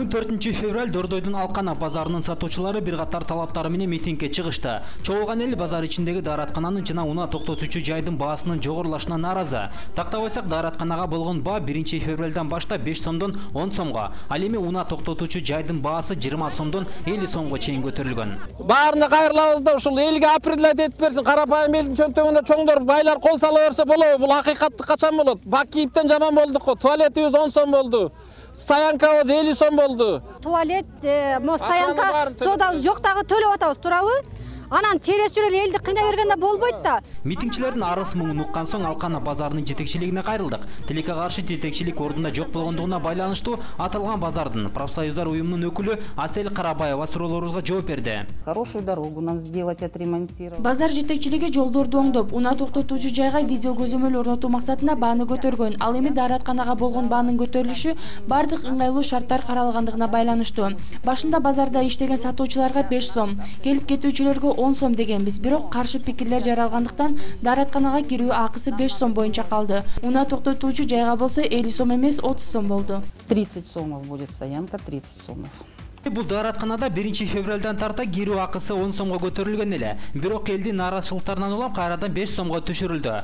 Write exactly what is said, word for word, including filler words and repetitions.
он төртүнчү февраль Дордойдун Алкана базарынын сатуучулары бир катар талаптары менен митингге чыгышты. Чогулган эл базар ичиндеги даараткананын жана унаа токтотуучу жайдын баасынын жогорулашына нааразы. Тактабайсак, дааратканага болгон баа биринчи февралдан баштап беш сомдон он сомго, ал эми унаа токтотуучу жайдын баасы жыйырма сомдон элүү сомго чейин көтөрүлгөн. Баарына кайрылабыз да ушул элге определять этип берсин. Карапайым элдин чөнтөгүнө чоңдор байлар кол сала берсе болобу? Бул акыйкаттык качан болот? Бак кийиптен жаман болдук го. Туалетибиз он сом болду. Стоянкабыз элүү сом болду. Туалет, мо стоянка содабыз жок дагы төлөп атабыз, турабы? Анан через жүрөл элди кыйнай бергенде болбойт да. Митингчилердин арыз муңун уккан соң Алкана базарынын жетекчилигине кайрылдык. Тилекке каршы жетекчилик ордунда жок болгондугуна байланыштуу аталган базардын профсоюздар уюмунун өкүлү Асель Карабаева суроолорубузга жооп берди. Хорошую дорогу нам сделать, отремонтировать. Базар жетекчилиги жолдорду оңдоп, унаа токтотуучу жайга видео көзөмөл орнотуу максатында бааны көтөргөн. Ал эми дааратканага болгон баанын көтөрүлүшү бардык ыңгайлуу шарттар каралгандыгына байланыштуу. Башында базарда иштеген сатуучуларга беш сом, келип кетүүчүлөргө он сом дегенбиз. Бирок каршы пикирлер жаралгандыктан дааратканага кирүү акысы беш сом боюнча калды. Унаа токтотуучу жайга болсо элүү сом эмес отуз сом болду. тридцать сомов будет стоянка, тридцать сомов. Бул дааратканада биринчи февралдан тарта кирүү акысы он сомго көтөрүлгөн эле. Бирок элдин нааразычылыктарынан улам кайрадан беш сомго түшүрүлдү.